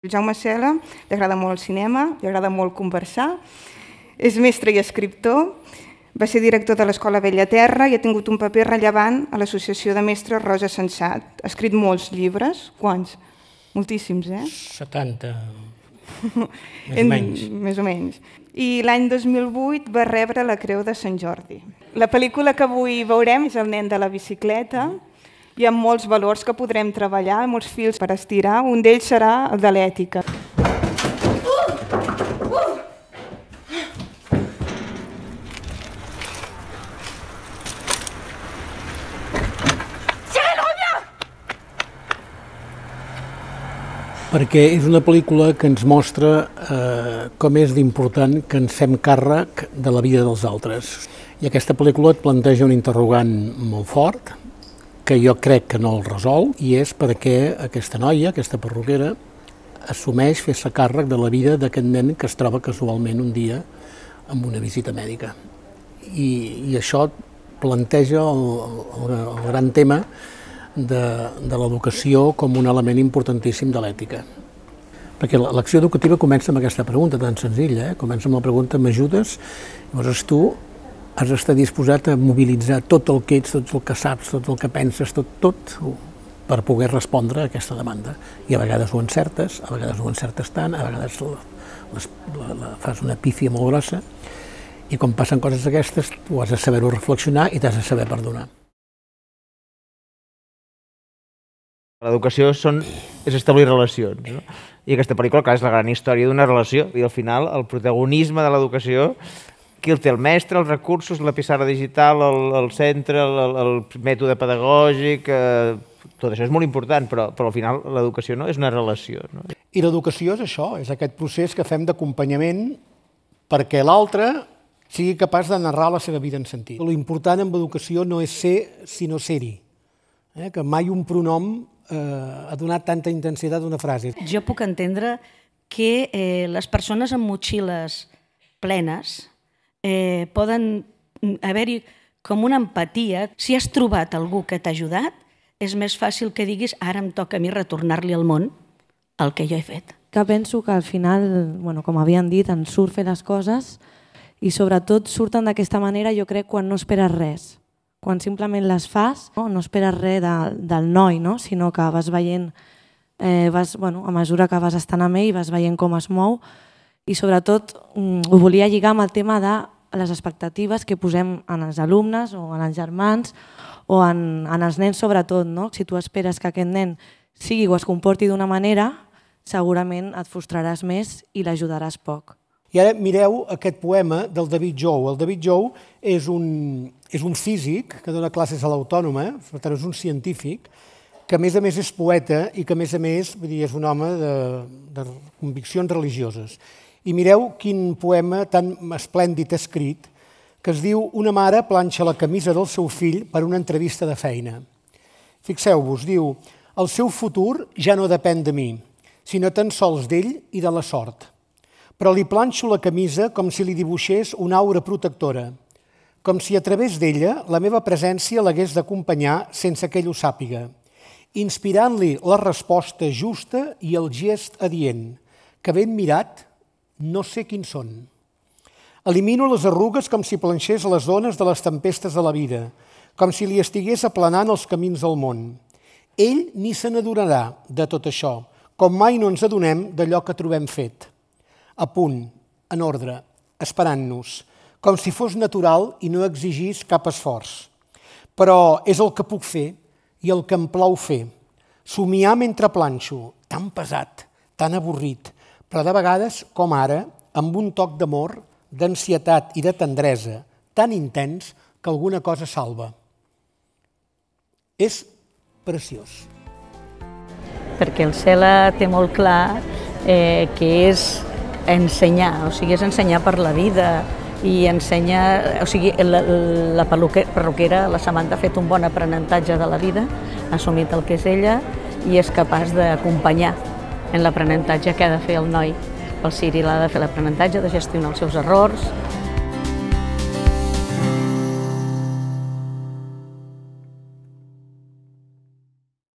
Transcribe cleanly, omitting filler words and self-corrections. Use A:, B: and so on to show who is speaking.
A: El Jaume Cela li agrada molt el cinema, li agrada molt conversar, és mestre i escriptor, va ser director de l'Escola Bella Terra i ha tingut un paper rellevant a l'Associació de Mestres Rosa Sensat. Ha escrit molts llibres. Quants? Moltíssims,
B: 70, més o menys.
A: Més o menys. I l'any 2008 va rebre la Creu de Sant Jordi. La pel·lícula que avui veurem és El nen de la bicicleta. Hi ha molts valors que podrem treballar, molts fils per estirar. Un d'ells serà el de l'ètica.
B: Perquè és una pel·lícula que ens mostra com és d'important que ens fem càrrec de la vida dels altres. I aquesta pel·lícula et planteja un interrogant molt fort, que jo crec que no el resol, i és per què aquesta noia, aquesta perruquera, assumeix fer-se càrrec de la vida d'aquest nen que es troba casualment un dia amb una visita mèdica. I això planteja el gran tema de l'educació com un element importantíssim de l'ètica. Perquè l'acció educativa comença amb aquesta pregunta tan senzilla, comença amb la pregunta m'ajudes? Llavors tu has d'estar disposat a mobilitzar tot el que ets, tot el que saps, tot el que penses, tot per poder respondre a aquesta demanda. I a vegades ho encertes, a vegades ho encertes tant, a vegades fas una pífia molt grossa, i quan passen coses d'aquestes tu has de saber-ho reflexionar i t'has de saber perdonar.
C: L'educació és establir relacions, no? I aquesta pel·lícula, clar, és la gran història d'una relació, i al final el protagonisme de l'educació, qui el té? El mestre, els recursos, la pissarra digital, el centre, el mètode pedagògic, tot això és molt important, però al final l'educació és una relació.
B: I l'educació és això, és aquest procés que fem d'acompanyament perquè l'altre sigui capaç de narrar la seva vida en sentit. L'important en l'educació no és ser, sinó ser-hi. Que mai un pronom ha donat tanta intensitat a una frase.
D: Jo puc entendre que les persones amb motxilles plenes poden haver-hi com una empatia. Si has trobat algú que t'ha ajudat, és més fàcil que diguis ara em toca a mi retornar-li al món el que jo he fet.
E: Que penso que al final, com havien dit, ens surt fer les coses i sobretot surten d'aquesta manera, jo crec, quan no esperes res. Quan simplement les fas, no esperes res del noi, sinó que vas veient, a mesura que vas estant amb ell, vas veient com es mou i sobretot ho volia lligar amb el tema de les expectatives que posem en els alumnes o en els germans o en els nens sobretot. Si tu esperes que aquest nen sigui o es comporti d'una manera, segurament et frustraràs més i l'ajudaràs poc.
B: I ara mireu aquest poema del David Jou. El David Jou és un físic que dona classes a l'Autònoma, per tant és un científic, que a més és poeta i que a més és un home de conviccions religioses. I mireu quin poema tan esplèndid escrit, que es diu Una mare planxa la camisa del seu fill per una entrevista de feina. Fixeu-vos, diu, el seu futur ja no depèn de mi, sinó tan sols d'ell i de la sort. Però li planxo la camisa com si li dibuixés una aura protectora, com si a través d'ella la meva presència l'hagués d'acompanyar sense que ell ho sàpiga, inspirant-li la resposta justa i el gest adient, que ben mirat no sé quins són. Elimino les arrugues com si planxés les ones de les tempestes de la vida, com si li estigués aplanant els camins del món. Ell ni se n'adonarà de tot això, com mai no ens adonem d'allò que trobem fet. A punt, en ordre, esperant-nos, com si fos natural i no exigís cap esforç. Però és el que puc fer i el que em plau fer. Somiar mentre planxo, tan pesat, tan avorrit, però de vegades, com ara, amb un toc d'amor, d'ansietat i de tendresa, tan intens que alguna cosa salva. És preciós.
D: Perquè el Cela té molt clar que és ensenyar, és ensenyar per la vida i ensenyar, la perruquera, la Samantha, ha fet un bon aprenentatge de la vida, ha assumit el que és ella i és capaç d'acompanyar en l'aprenentatge que ha de fer el noi. El Ciri l'ha de fer l'aprenentatge, de gestionar els seus errors,